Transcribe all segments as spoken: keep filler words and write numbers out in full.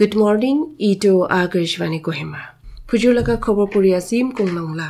Good morning, etu Akashvani Kohima. Phujur laga khobor puri asim Kunglong la.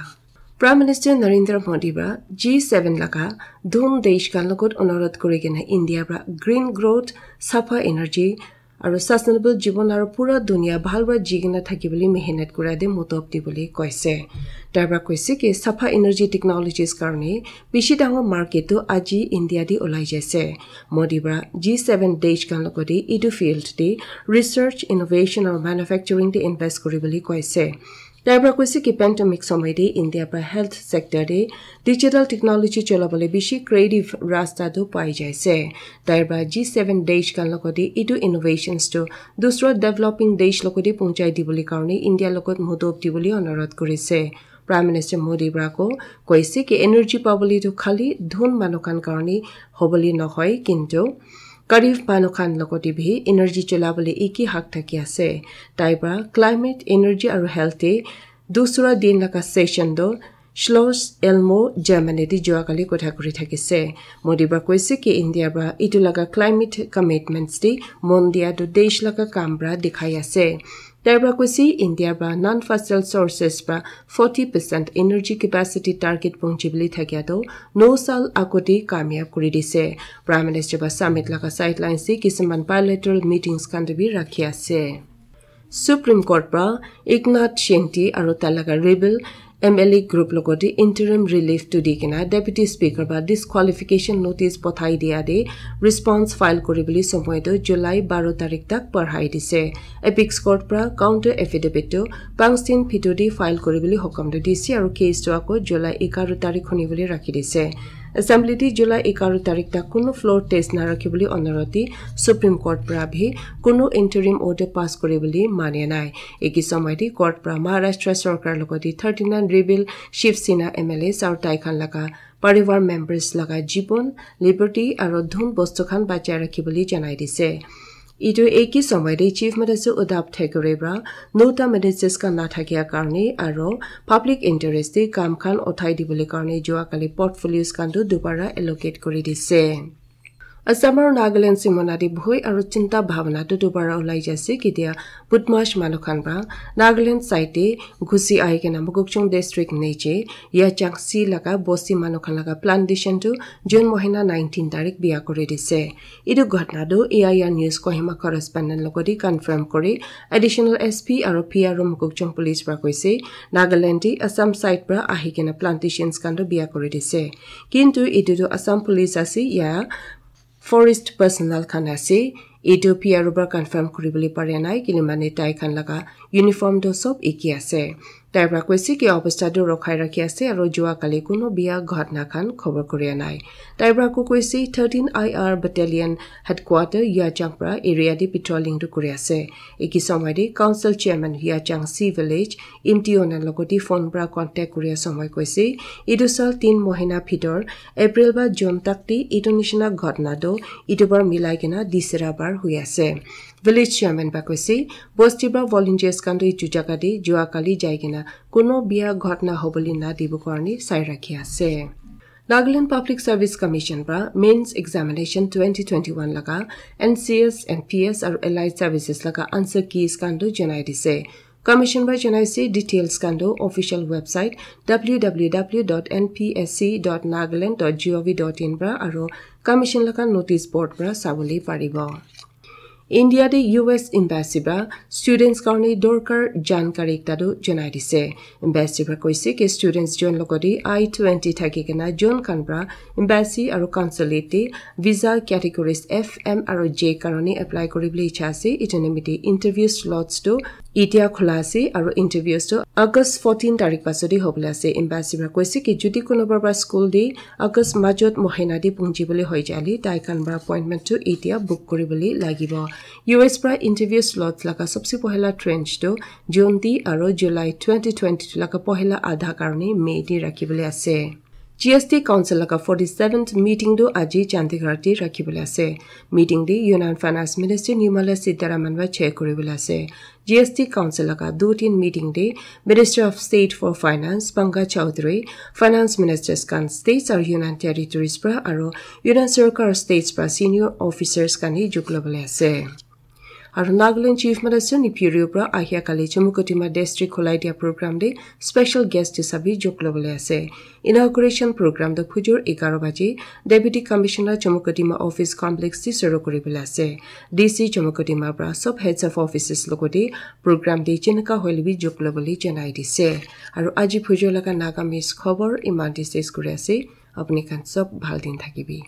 Prime Minister Narendra Modi para G seven laga dhun desh khan logot onurodh kuri kena India para green growth, sapha energy, aru sustainable jibon aru pura dunia bhal para ji kena thaki bole mehnat kura te motlob di bole koise. Tai para koise ki sapha energy technologies karne bishi dangor market tu aji India te ulai jaise. Modi para G seven desh khan logot te etu field te research, innovation aru manufacturing te invest kuri bole koise. Tai para koise ki pandemic somoy te India para health sector te digital technology chola bole bishi creative rasta tu pai jaise. Tai para G seven desh khan logot te etu innovations tu dusra developing desh logot te punchai di bole karne India logot motlob di bole onurodh kurise. Prime Minister Modi para ko koise ki energy pa bole tu khali dhun manu khan karne hobole nohoi, kintu garib manu khan logot te bhi energy chola bole eki hak thaki ase. Tai para climate, energy aru health te dusra din laga session tu Schloss Elmo, Germany te jua kali kotha kuri thakise. Modi para koise ki India para etu laga climate commitments te mon dia tu desh laga kam para dikhai ase. Tai para koise India para non-fossil sources para forty percent energy capacity target pongchi bole thakia tu no sal agote kamyab kuri dise. Prime Minister para summit laga sidelines te kisuman bilateral meetings khan te bhi rakhi ase. Supreme Court para Eknath Shinde aru tai laga rebel M L A group logot te interim relief tu di kena Deputy Speaker para disqualification notice pothai dia te response file kuri bole somoy tu July baro tarik tak barhai dise. Apex Court para counter affidavit tu panch din bhitor te file kuri bole hukam tu dise aru case tu ako July egaro tarik huni bole rakhi dise. Assembly te July egaro tarik tak kunu floor test na rakhi bole onurodh di Supreme Court para bhi kunu interim order pass kuri bole mania nai. Eki somoy te court para Maharashtra sorkar logot te thirty nine rebel Shiv Sena M L As aru tai khan laga parivar members laga jibon, liberty aru dhun bostu khan bachai rakhi bole janai dise. Etu eki somoy te Chief Minister Uddhav Thackeray para nota ministers khan na thakia karne aru public interest te kam khan uthai di bole karne jua kali portfolios khan tu dubara allocate kuri dise. Assam aru Nagaland simona te bhoi aru chinta bhabana tu dubara ulai jaise ketia Budmash manu khan para Nagaland side te ghusi ahi kena Mokokchung district niche Yachangsi laga bosti manu khan laga plantation tu June mohina nineteen tarik bia kuri dise. Etu ghotna tu A I R News Kohima correspondent logot te confirm kuri additional S P aru P R O Mokokchung police para koise Nagaland te Assam side para ahi kena plantations khan tu bia kuri dise. Kintu etu tu Assam police ase ya forest personnel khan ase. Etu P R O para confirm kuri bole pare nai kile mane tai khan laga uniform tu sob eki ase. Tai para koise ki obostha tu rokhai rakhi ase aru jua kali kunu bia ghotna khan khobor kuri nai. Tai para ko koise thirteen I R battalion headquarter Yachang para area te patrolling tu kuri ase. Eki somoy te council chairman Yachangsi village M T O na logot te phone para contact kuri somoy koise etu sal tin mohina bhitor April ba June tak te etu nishina ghotna tu etu bar milai kena disra bar hui ase. Village chairman ba koise bosti ba volunteers khan tu etu jaga te jua kali jai kena kuno bia ghotna hobole na dibo karne sai rakhi ase. Nagaland Public Service Commission para mains examination twenty twenty-one laga N C S, N P S aru allied services laga answer keys khan tu janai dise. Commission para janai se details khan tu official website W W W dot N P S C dot nagaland dot gov dot in para aru commission laga notice board para sabole paribo. India te U S embassy para students karne dorkar jankari ekta tu janai dise. Embassy para koise ki students jon logot te I twenty thaki kena jon khan para embassy aru consulate te visa categories F, M aru J karone apply kuri bole icha ase. Etu nimite interview slots tu etia khula ase aru interviews tu August fourteen tarik pasot te hobole ase. Embassy para koise ki jodi kunuba para school te August majot mohina te punchi bole hoi jale tai khan para appointment tu etia book kuri bole lagibo. U S para interview slots laga sabse pohila tranche tu June te aru July twenty twenty-two laga pohila adha karone May te rakhi bole ase. G S T Council laga forty-seventh meeting tu aji Chandigarh te rakhi bole ase. Meeting te Union Finance Minister Nirmala Sitharaman para chair kuri bole ase. G S T Council laga du tin meeting te Minister of State for Finance Pankaj Chaudhary, Finance Ministers khan states aru Union Territories para aru Union Sarkar states para senior officers khan hi juklo bole ase. Aru Nagaland Chief Minister Neiphiu Rio pra ahia kali Chumukedima District khulai dia program te special guest hisabe jog lobole ase. Inauguration program tu phujor egharo baje Deputy Commissioner Chumukedima Office Complex te suru kuri bole ase. D C Chumukedima pra sob heads of offices logote program te jeneka hoile bi jog lobole janai dise. Aru aji phujor laga Nagamese khobor iman te ses kuri ase. Apni khan sob bhal din thakibi.